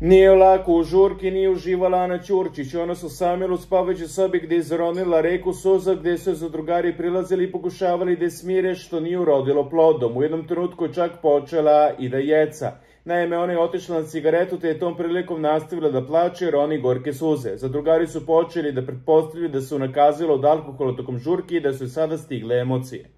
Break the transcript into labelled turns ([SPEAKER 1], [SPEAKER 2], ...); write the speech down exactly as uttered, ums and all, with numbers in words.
[SPEAKER 1] Nije lako u žurki, nije uživala Ana Ćurčić. Ona su samila u spavajućoj sobi gdje je zaronila reku suza, gdje su za drugari prilazili i pokušavali da je smire, što nije urodilo plodom. U jednom trenutku je čak počela i da jeca. Naime, ona je otišla na cigaretu te je tom prilikom nastavila da plače jer oni gorke suze. Zadrugari su počeli da pretpostavljaju da su nakazila od alkohola tokom žurki i da su sada stigle emocije.